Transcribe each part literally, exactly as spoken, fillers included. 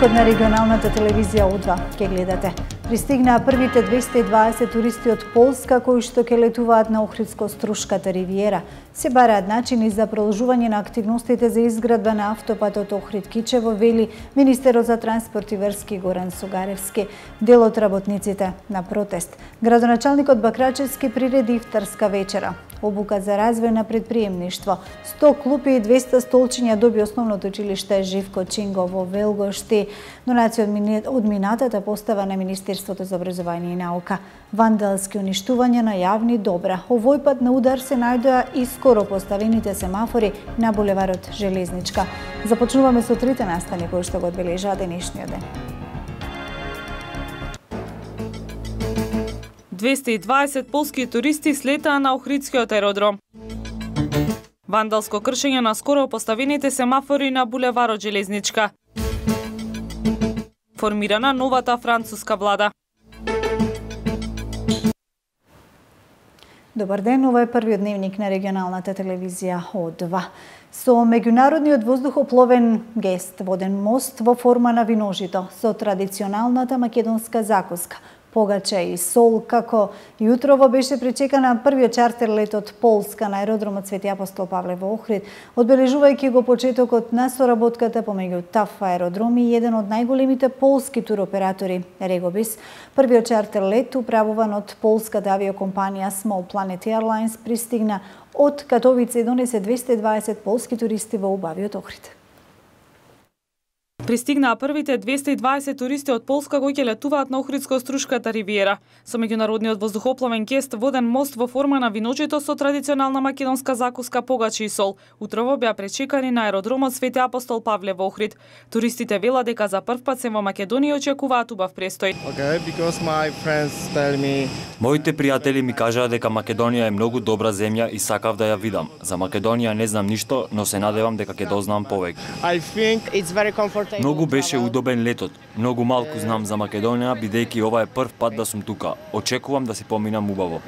Дневникот на регионалната телевизија О два ке гледате. Пристигнаа првите двесте и дваесет туристи од Полска кои што ќе летуваат на Охридско-Струшката ривиера. Се бараат начини за продолжување на активностите за изградба на автопатот Охрид-Кичево, вели министерот за транспорт и врски Горан Сугаревски. Дел од работниците на протест. Градоначалникот Бакрачевски приреди ифтарска вечера. Обука за развој на предприемништво. сто клупи и двесте столчиња доби основното училиште Живко Чинго во Велгошти. Донација од минатата постава на Министерството за образование и наука. Вандалски уништување на јавни добра. Овој пат на удар се најдоа и скоро поставените семафори на булеварот Железничка. Започнуваме со трите настани кои што го одбележаа денешниот ден. двесте и дваесет полски туристи слетаа на Охридскиот аеродром. Вандалско кршење на скоро поставените семафори на булеварот Железничка. Формирана новата француска влада. Добар ден, ова е првиот дневник на регионалната телевизија О два. Со меѓународниот воздухопловен гест воден мост во форма на виножито со традиционалната македонска закуска, погаче и сол, како јутрово беше пречекана првиот чартер лет од Полска на аеродромот Свети Апостол Павле во Охрид, одбележувајќи го почетокот на соработката помеѓу ТАФ аеродром и еден од најголемите полски туроператори Регобис. Првиот чартер лет управуван од полската авиокомпанија Small Planet Airlines пристигна од Катовице и донесе двесте и дваесет полски туристи во убавиот Охрид. Пристигнаа првите двесте и дваесет туристи од Полска кои ќе летуваат на Охридско-Струшката ривиера. Со меѓународниот воздухопловен гест воден мост во форма на виночито со традиционална македонска закуска, погачи и сол. Утрово беа пречекани на аеродромот Свети Апостол Павле во Охрид. Туристите велат дека за прв пат се во Македонија и очекуваат убав престој. Okay, because my friends tell me... Моите пријатели ми кажаа дека Македонија е многу добра земја и сакав да ја видам. За Македонија не знам ништо, но се надевам дека ќе дознам повеќе. I think it's very comfortable. Многу беше удобен летот. Многу малку знам за Македонија, бидејќи ова е прв пат да сум тука. Очекувам да си поминам убаво.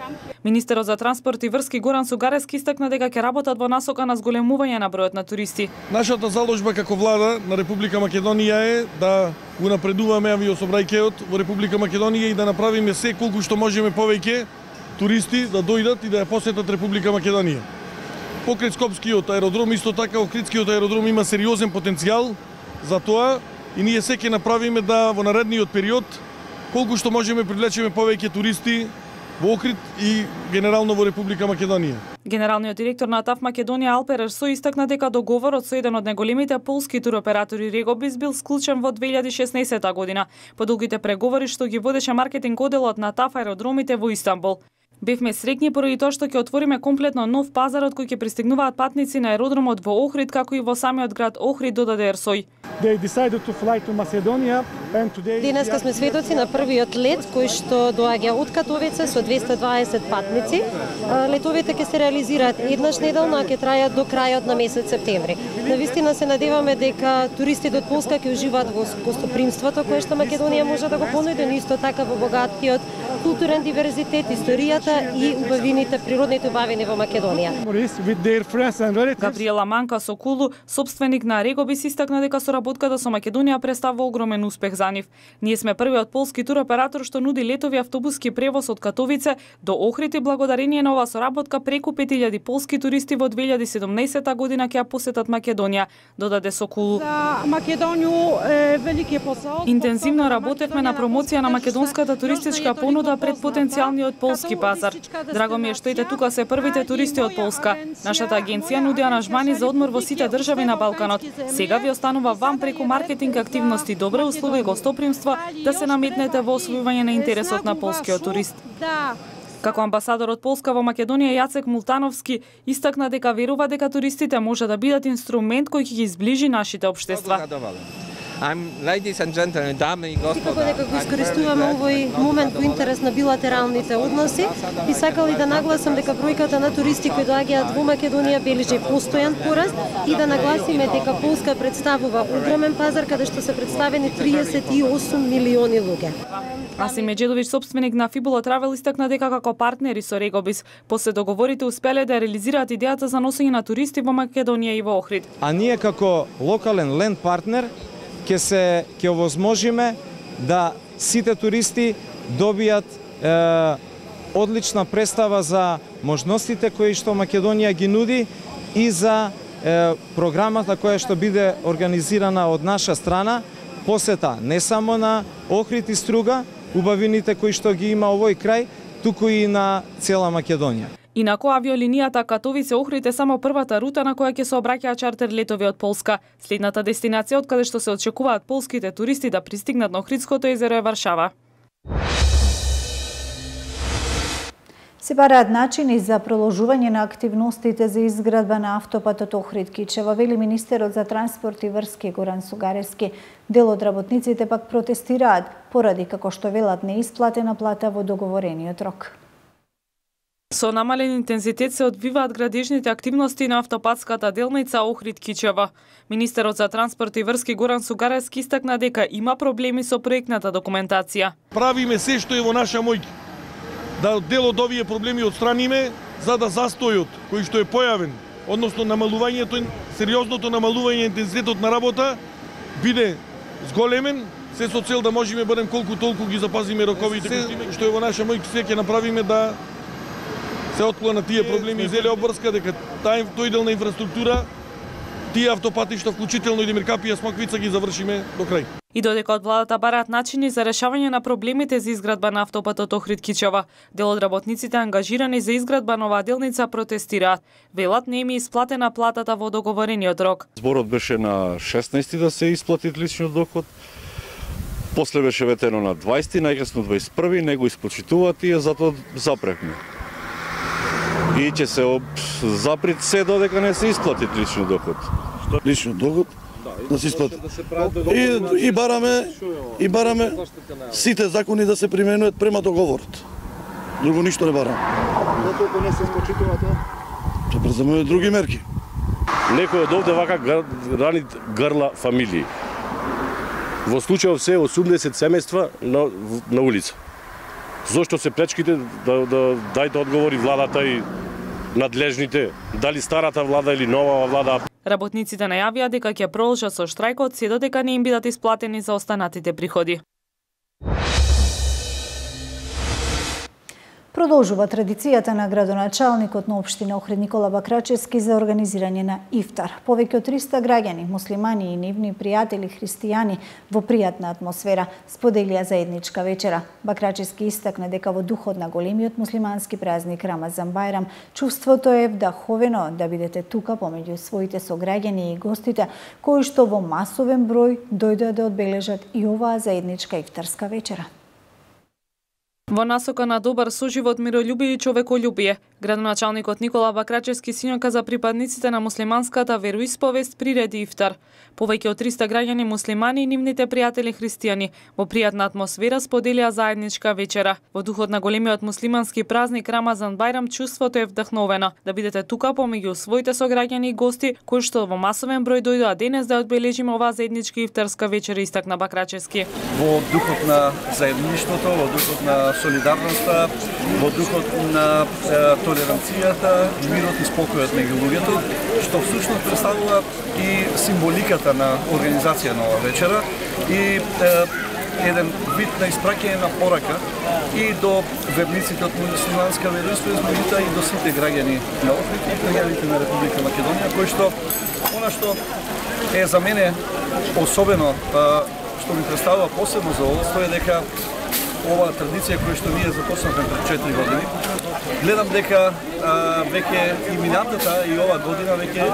Министерот за транспорт и врски Горан Сугаревски истакна дека ќе работат во насока на зголемување на бројот на туристи. Нашата заложба како влада на Република Македонија е да го напредуваме авиособрајкеот во Република Македонија и да направиме се колку што можеме повеќе туристи да дојдат и да ја посетат Република Македонија. Покрај Скопскиот аеродром, исто така Охридскиот аеродром има сериозен потенцијал за тоа и ние се ќе направиме да во наредниот период колку што можеме привлечеме повеќе туристи во Охрид и генерално во Република Македонија. Генералниот директор на ТАФ Македонија Алпер Ерсој истакна дека договорот со еден од најголемите полски туроператори Регобис бил склучен во две илјади и шеснаесетта година по долгите преговори што ги водеше маркетинг одделот на ТАФ аеродромите во Истанбул. Бевме среќни поради тоа што ќе отвориме комплетно нов пазар од кој ќе пристигнуваат патници на аеродромот во Охрид, како и во самиот град Охрид, додаде Ерсој. Денеска сме сведоци на првиот лет кој што доаѓа од Катовице со двесте и дваесет патници. Летовите ќе се реализираат еднаш неделно, а ќе трајат до крајот на месец септември. Навистина се надеваме дека туристите од Полска ќе уживаат во гостопримството кое што Македонија може да го понуди, но исто така во богатиот културен диверзитет, историјата и убавините, природните убавини во Македонија. Габриела Манка Сокулу, собственик на Регобис, истакна дека соработката со Македонија представува огромен успех за нив. Ние сме првиот полски туроператор што нуди летови автобуски превоз од Катовице до Охрид и благодарение на оваа соработка преку пет илјади полски туристи во две илјади и седумнаесетта година ќе ја посетат Македонија, додаде Сокулу. За Македонија е велики посол. Интензивно работевме на промоција на македонската туристичка понуда пред потенцијалниот полски пазар. Драго ми е што ете тука се првите туристи од Полска. Нашата агенција нуди аранжмани за одмор во сите држави на Балканот. Сега ви останува вам преку маркетинг активности, добри услови и гостопримства да се наметнете во освојување на интересот на полскиот турист. Како амбасадор од Полска во Македонија Јацек Мултановски истакна дека верува дека туристите може да бидат инструмент кој ќе ги зближи нашите општества. I'm ladies and gentlemen, дами и господа. Секако дека го искористуваме овој момент во интерес на билатералните односи и сакал и да нагласам дека бројката на туристи кои доаѓаат во Македонија бележи постојан пораст и да нагласиме дека Полска представува огромен пазар каде што се представени триесет и осум милиони луѓе. Асим Меджедович, собственик на Фибула Травел, истакна дека како партнери со Регобис после договорите успеле да реализираат идејата за носење на туристи во Македонија и во Охрид. А ние како локален ленд партнер ќе се ќе овозможиме да сите туристи добијат е, одлична представа за можностите кои што Македонија ги нуди и за е, програмата која што биде организирана од наша страна, посета не само на Охрид и Струга, убавините кои што ги има овој крај, туку и на цела Македонија. Инаку авиолинијата Катовице Охрид е само првата рута на која ќе се обраќаат чартер летови од Полска. Следната дестинација од каде што се очекуваат полските туристи да пристигнат на Охридското езеро е Варшава. Се бараат начини за продолжување на активностите за изградба на автопатот Охрид-Кичево, вели министерот за транспорт и врски Горан Сугаревски. Дел од работниците пак протестираат поради, како што велат, неисплатена плата во договорениот рок. Со намален интензитет се одвиваат градежните активности на автопатската делница Охрид-Кичево. Министерот за транспорт и врски Горан Сугаревски истакна дека има проблеми со проектната документација. Правиме се што е во наша моќ да дел од овие проблеми отстраниме, за да застојот кој што е појавен, односно намалувањето, сериозното намалување интензитетот на работа биде зголемен, се со цел да можеме барем колку толку ги запазиме роковите, се што е во наша моќ се ќе направиме да се отклонат тие проблеми и зеле обврска дека таа тој дел на инфраструктура, тие автопатишта, вклучително и Демиркапија Смоквица, ги завршиме до крај. И додека од владата бараат начини за решавање на проблемите за изградба на автопатот Охрид-Кичево, дел од работниците ангажирани за изградба на оваа делница протестираат. Велат не им е исплатена платата во договорениот рок. Зборот беше на шеснаесети да се исплати личниот доход. После беше ветено на дваесети, најкасно дваесет и први, не го исплачитуваат и затоа запревме. И ќе се заприт се додека не се исплати личниот доход. Личниот доход да се исплати. И, и бараме и бараме сите закони да се применуваат према договорот. Друго ништо не бараме. Затоа не се исплачитува тоа? Се преземува други мерки. Некој од овде вака рани грла фамилии. Во случајов се осумдесет семејства на, на улица. Зошто се пречките да, да дајте одговори владата и надлежните, дали старата влада или нова влада? Работниците најавија дека ќе продолжат со штрајкот се додека не им бидат исплатени за останатите приходи. Продолжува традицијата на градоначалникот на општина Охрид Никола Бакрачевски за организирање на ифтар. Повеќе од триста граѓани, муслимани и нивни пријатели христијани во пријатна атмосфера споделија заедничка вечера. Бакрачевски истакна дека во духот на големиот муслимански празник Рамазан Бајрам, чувството е вдаховено да бидете тука помеѓу своите сограѓани и гостите кои што во масовен број дојдоа да одбележат и оваа заедничка ифтарска вечера. Во насока на добар соживот, мирољубие и човеколюбие, градоначалникот Никола Бакрачевски синока за припадниците на муслиманската вероисповест приреди ифтар. Повеќе од триста граѓани муслимани и нивните пријатели христијани во пријатна атмосфера споделија заедничка вечера. Во духот на големиот муслимански празник Рамазан Бајрам, чувството е вдахновено да бидете тука помеѓу своите сограѓани и гости кои што во масовен број дојдоа денес да одбележиме оваа заедничка ифтарска вечера, истакна Бакрачевски. Во духот на заедништвото, во духот на солидарноста, во духот на е, толеранцијата, мирот и спокојот меѓу луѓето, што всушност представува и символиката на организација на оваа вечера и е, еден вид на испраќање на порака и до верниците од муслиманска вероисповест, меѓутоа и до сите граѓани на Охрид и граѓаните на Република Македонија, кои што она што е за мене особено, што ми представува посебно задоволство е дека оваа традиција која што ние започнавме пред четири години, гледам дека а, веќе и минатата и оваа година веќе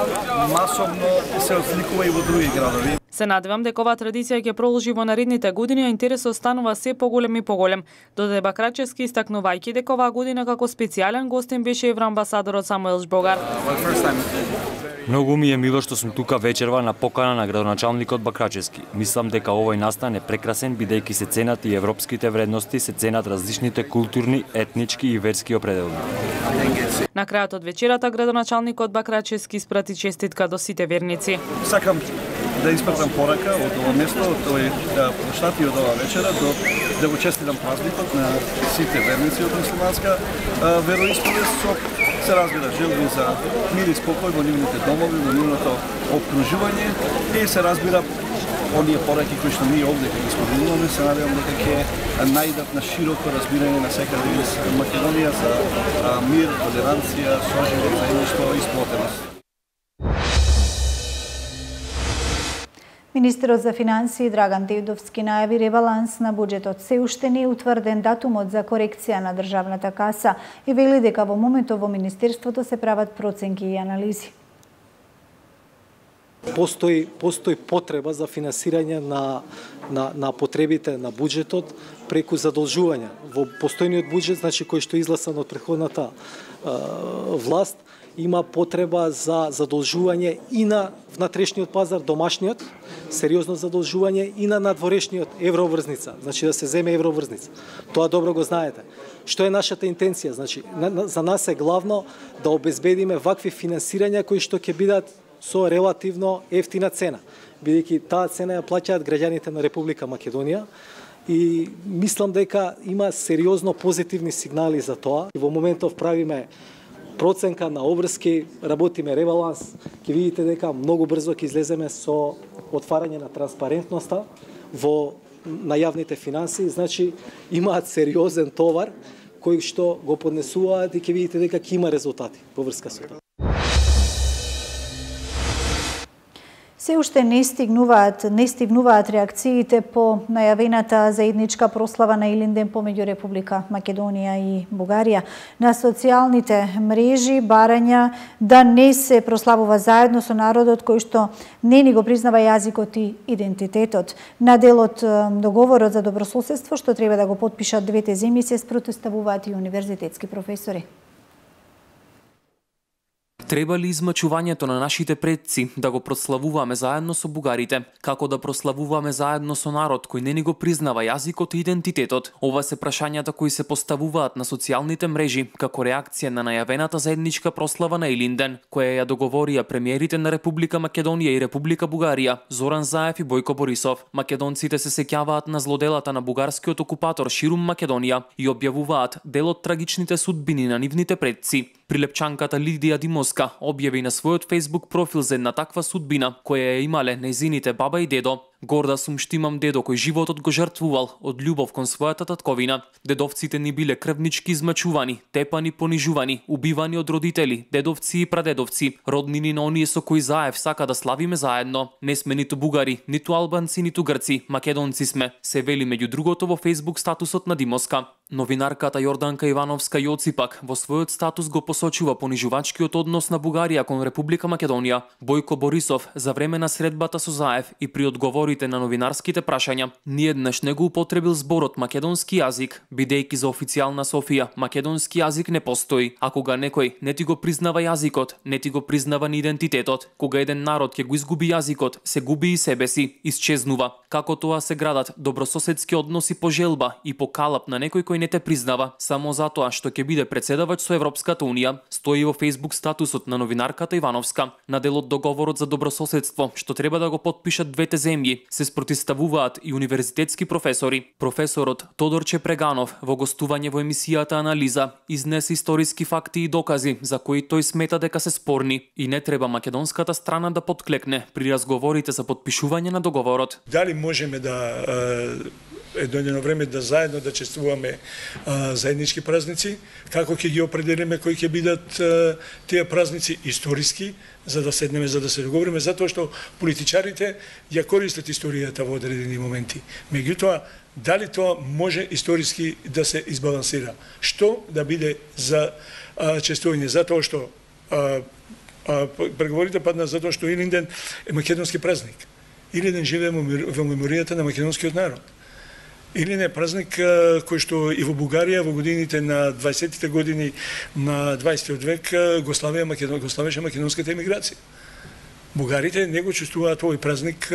масовно се осликува и во други градови. Се надевам дека оваа традиција ќе продолжи во наредните години, а интересот станува се поголем и поголем. Додаде Бакрачевски, истакнувајќи дека оваа година како специјален гостин беше евроамбасадорот Самуел Жбогар. Многу ми е мило што сум тука вечерва на покана на градоначалникот Бакрачевски. Мислам дека овој настан е прекрасен бидејќи се ценат и европските вредности, се ценат различните културни, етнички и верски определби. На крајот од вечерата градоначалникот Бакрачевски испрати честитка до сите верници. Сакам да испратам порака од ова место, од овој площад и од оваа вечера, до да го честитам празникот на сите верници од муслиманска вероисповест со се разбира желби за мир и спокој во нивните домови, во нивното обкружување и се разбира оние пораки кои што ние овде ги споменуваме, се надевам дека ќе најдат на широко разбирање на секаде из Македонија за мир, толеранција, соживот, заедништво и сплотеност. Министерот за финансии Драган Дедовски најави ребаланс на буџетот. Се уште не е утврден датумот за корекција на државната каса и вели дека во моментот во Министерството се прават проценки и анализи. Постои, постои потреба за финансирање на, на, на потребите на буџетот преку задолжување. Во постојниот буџет, значи кој што е изгласан од претходната е, власт, има потреба за задолжување и на внатрешниот пазар, домашниот, сериозно задолжување и на надворешниот евроврзница, значи да се земе евроврзница. Тоа добро го знаете. Што е нашата интенција? Значи, за нас е главно да обезбедиме вакви финансирања кои што ќе бидат со релативно ефтина цена, бидејќи таа цена ја плаќаат граѓаните на Република Македонија и мислам дека има сериозно позитивни сигнали за тоа. И во моментов правиме проценка на обврски, работиме ребаланс, ќе видите дека многу брзо ќе излеземе со отварање на транспарентноста во на јавните финансии, значи имаат сериозен товар кој што го поднесуваат и ќе видите дека ќе има резултати во врска со тоа. Се уште не стигнуваат, не стигнуваат реакциите по најавената заедничка прослава на Илинден помеѓу Република Македонија и Бугарија. На социјалните мрежи барања да не се прославува заедно со народот кој што не ни го признава јазикот и идентитетот. На делот договорот за добрососедство што треба да го потпишат двете земји се спротивставуваат и универзитетски професори. Треба ли измачувањето на нашите предци да го прославуваме заедно со бугарите, како да прославуваме заедно со народ кој не ни го признава јазикот и идентитетот? Ова се прашањата кои се поставуваат на социјалните мрежи како реакција на најавената заедничка прослава на Илинден, која ја договорија премиерите на Република Македонија и Република Бугарија, Зоран Заев и Бојко Борисов. Македонците се сеќаваат на злоделата на бугарскиот окупатор ширум Македонија и објавуваат дел од трагичните судбини на нивните предци. Прилепчанката Лидија Димовска објави на својот Facebook профил за една таква судбина која ја имале нејзините баба и дедо. Горда сум што имам дедо кој животот го жртвувал од љубов кон својата татковина. Дедовците ни биле крвнички измачувани, тепани, понижувани, убивани од родители, дедовци и прадедовци, роднини на оние со кои Заев сака да славиме заедно. Не сме ниту бугари, ниту албанци, ниту грци, македонци сме, се вели меѓу другото во Facebook статусот на Димовска. Новинарката Јорданка Ивановска Јоци пак во својот статус го посочува понижувачкиот однос на Бугарија кон Република Македонија. Бојко Борисов за време на средбата со Заев и при одговорите на новинарските прашања ниеднаш не го употребил зборот македонски јазик, бидејќи за официјална Софија македонски јазик не постои, а кога некој не ти го признава јазикот, не ти го признава ни идентитетот. Кога еден народ ќе го изгуби јазикот, се губи и себе си, исчезнува. Како тоа се градат добрососедски односи по желба и по калап на некој кој не те признава, само затоа што ќе биде председавач со Европската Унија, стои во Facebook статусот на новинарката Ивановска. На делот договорот за добрососедство, што треба да го потпишат двете земји, се спротивставуваат и универзитетски професори. Професорот Тодорче Преганов во гостување во емисијата Анализа изнесе историски факти и докази за кои тој смета дека се спорни и не треба македонската страна да подклекне при разговорите за потпишување на договорот. Дали можеме да е дојдено време да заедно да чествуваме а, заеднички празници, како ќе ги определиме кои ќе бидат а, тие празници историски, за да седнеме, за да се договориме, затоа што политичарите ја користат историјата во одредени моменти. Меѓутоа, дали тоа може историски да се избалансира? Што да биде за а, чествување? Затоа што а, а, преговорите падна затоа што Илинден е македонски празник. Илинден живее во меморијата на македонскиот народ. Илинден е празник кој што и во Бугарија во годините на дваесеттите години на дваесеттиот век го славеа Македон, го славеше македонската емиграција. Бугарите не го чувствуваат овој празник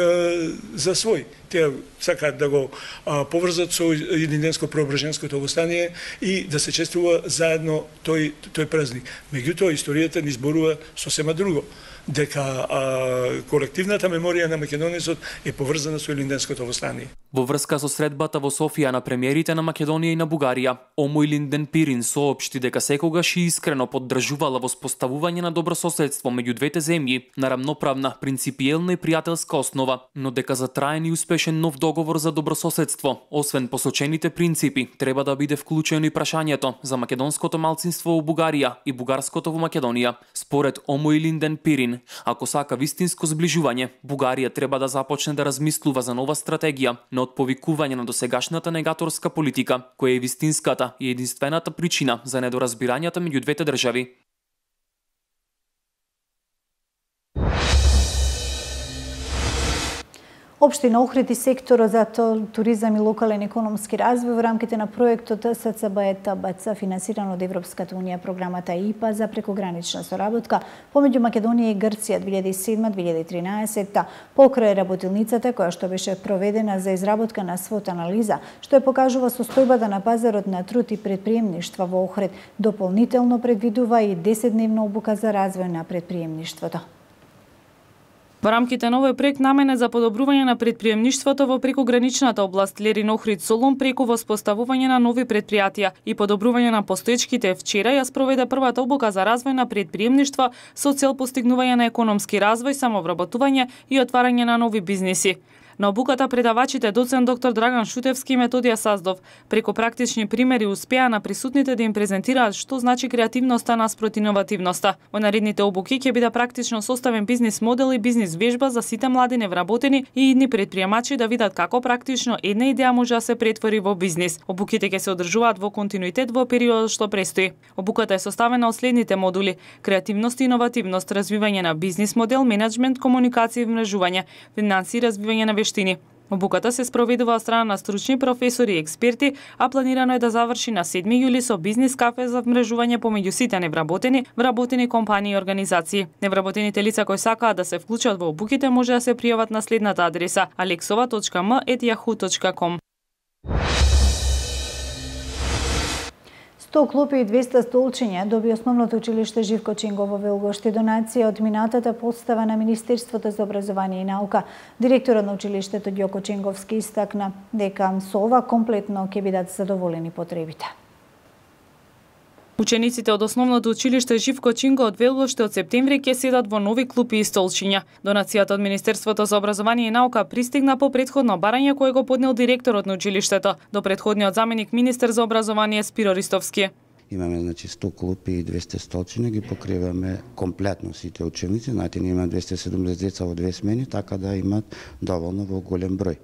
за свој. Те сакаат да го поврзат со Илинденско-Преображенското востание и да се чествува заедно тој тој празник. Меѓутоа историјата ни зборува сосема друго. дека а, колективната меморија на македонецот е поврзана со Илинденското востание. Во врска со средбата во Софија на премиерите на Македонија и на Бугарија, Омо Илинден Пирин соопшти дека секогаш и искрено поддржувала воспоставување на добрососедство меѓу двете земји на рамноправна, принципиелна и пријателска основа, но дека за траен и успешен нов договор за добрососедство, освен посочените принципи, треба да биде вклучено и прашањето за македонското малцинство во Бугарија и бугарското во Македонија. Според Омо Илинден Пирин, ако сака вистинско зближување, Бугарија треба да започне да размислува за нова стратегија на отповикување на досегашната негаторска политика, која е вистинската и единствената причина за недоразбирањата меѓу двете држави. Општина Охрид и секторот за туризам и локален економски развој во рамките на проектот С Ц Б Е Т Б Ц финансиран од Европската унија, програмата И П А за прекогранична соработка помеѓу Македонија и Грција две илјади и седма - две илјади и тринаесетта покрај работилницата која што беше проведена за изработка на свот анализа што ја покажува состојбата на пазарот на труд и предприемништва во Охрид. Дополнително предвидува и десетдневна обука за развој на предприемништвото. Во рамките на овој проект наменет за подобрување на предприемништвото во прекограничната област Лерин Охрид Солун преку воспоставување на нови предпријатија и подобрување на постоечките, вчера ја спроведе првата обука за развој на предприемништва со цел постигнување на економски развој, самовработување и отварање на нови бизниси. На обуката предавачите доцент доктор Драган Шутевски и Методија Саздов преку практични примери успеа на присутните да им презентираат што значи креативноста наспроти иновативноста. Во наредните обуки ќе биде практично составен бизнис модел и бизнис вежба за сите млади невработени и идни предприемачи да видат како практично една идеја може да се претвори во бизнис. Обуките ќе се одржуваат во континуитет во периодот што престои. Обуката е составена од следните модули: креативност и иновативност, развивање на бизнис модел, менеджмент, комуникација и вмрежување, финанси и развивање на вештини. Обуката се спроведува од страна на стручни професори и експерти, а планирано е да заврши на седми јули со бизнис кафе за вмрежување помеѓу сите невработени, вработени компании и организации. Невработените лица кои сакаат да се вклучат во обуките може да се пријават на следната адреса: алексова точка ем ет јаху точка ком. сто клупи и двеста столчиња доби основното училиште Живко Чинго во Велгошти, донација од минатата постава на Министерството за образование и наука. Директорот на училиштето Ѓоко Чинговски истакна дека со ова комплетно ќе бидат задоволени потребите. Учениците од основното училиште Живко Чинго од Велгошти од септември ќе седат во нови клупи и столчиња. Донацијата од Министерството за образование и наука пристигна по претходно барање кое го поднел директорот на училиштето до претходниот заменик министер за образование Спиро Ристовски. Имаме значи сто клупи и двеста столчиња, ги покриваме комплетно сите ученици. Знаете, ние имаме двеста и седумдесет деца во две смени, така да имат доволно во голем број.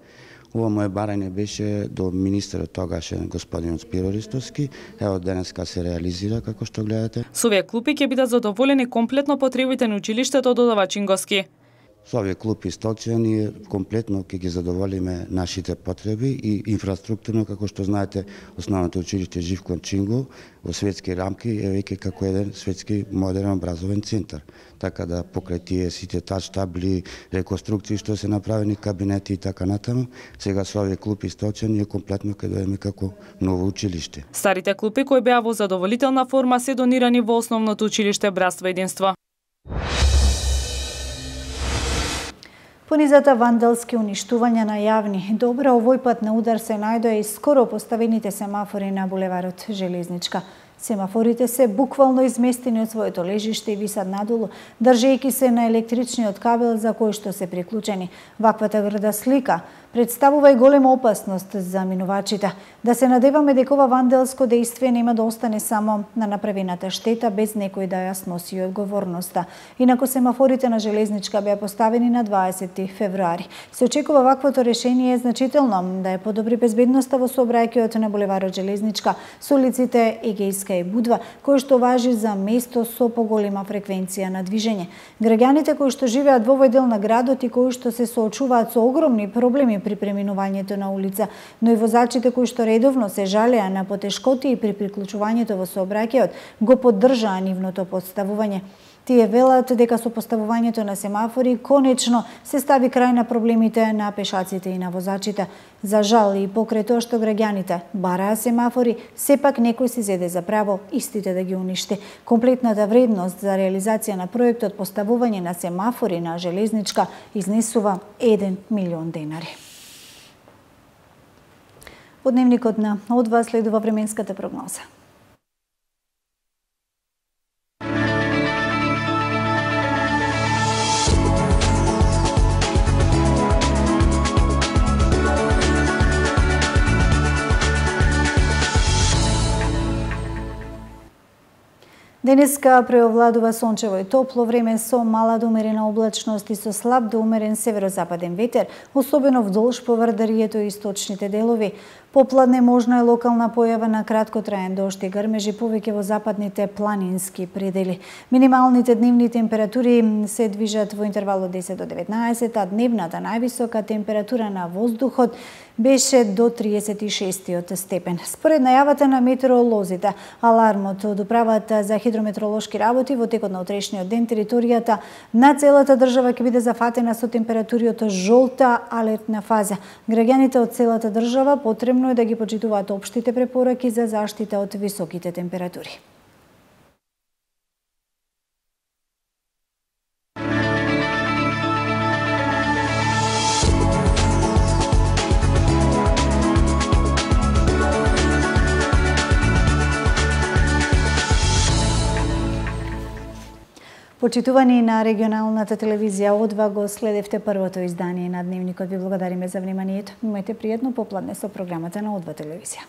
Ова моје барање беше до министерот тогашен господин Спиро Ристовски. Ево денеска се реализира како што гледате. Со овие клупи ќе бидат задоволени комплетно потребите на училиштето, додава Чинговски. Со овие клупи и столчиња ние комплетно ќе ги задоволиме нашите потреби и инфраструктурно, како што знаете, основното училиште Живко Чинго во светски рамки е веќе како еден светски модерен образовен центар. Така да покрај тие сите тач табли, реконструкции што се направени, кабинети и така натаму, сега со овие клупи и столчиња ние комплетно ќе дојдеме како ново училиште. Старите клупи кои беа во задоволителна форма се донирани во основното училиште Братство единство. Понизата вандалски уништувања на јавни добра овој пат на удар се најдоа и скоро поставените семафори на булеварот Железничка. Семафорите се буквално изместени од своето лежиште и висат надолу, држејќи се на електричниот кабел за кој што се приклучени. Ваквата грда слика представува и голема опасност за минувачите. Да се надеваме дека ова вандалско дејствие нема да остане само на направената штета без некој да ја сноси одговорноста. Инаку семафорите на Железничка беа поставени на дваесети февруари. Се очекува ваквото решение значително да ја подобри безбедноста во сообраќајот на булеварот Железничка со улиците Егејска и Будва, кој што важи за место со поголема фреквенција на движење. Граѓаните кои што живеат во овој дел на градот и кои што се соочуваат со огромни проблеми при преминувањето на улица, но и возачите кои што редовно се жалеа на потешкоти при приклучувањето во сообраќајот, го поддржаа нивното поставување. Тие велат дека со поставувањето на семафори конечно се стави крај на проблемите на пешаците и на возачите. За жал и покрај тоа што граѓаните бараа семафори, сепак некој се зеде за право право истите да ги уништи. Комплетната вредност за реализација на проектот поставување на семафори на железничка изнесува еден милион денари. Во дневникот на Одва следува временската прогноза. Денеска преовладува сончево и топло време со мала до умерена облачност и со слаб до умерен северозападен ветер, особено вдолж поврдарието и источните делови. Попладне можна е локална појава на краткотраен дожд и грмежи повеќе во западните планински предели. Минималните дневни температури се движат во интервал од десет до деветнаесет, а дневната највисока температура на воздухот беше до триесет и шестиот степен. Според најавата на метеоролозите, алармот од управата за хидрометеоролошки работи во текот на утрешниот ден територијата на целата држава ќе биде зафатена со температури од жолта алертна фаза. Граѓаните од целата држава потребно е да ги почитуваат општите препораки за заштита од високите температури. Почитувани на регионалната телевизија Одва, го следевте првото издание на Дневникот. Ви благодариме за вниманието. Имајте пријатно попладне со програмата на Одва телевизија.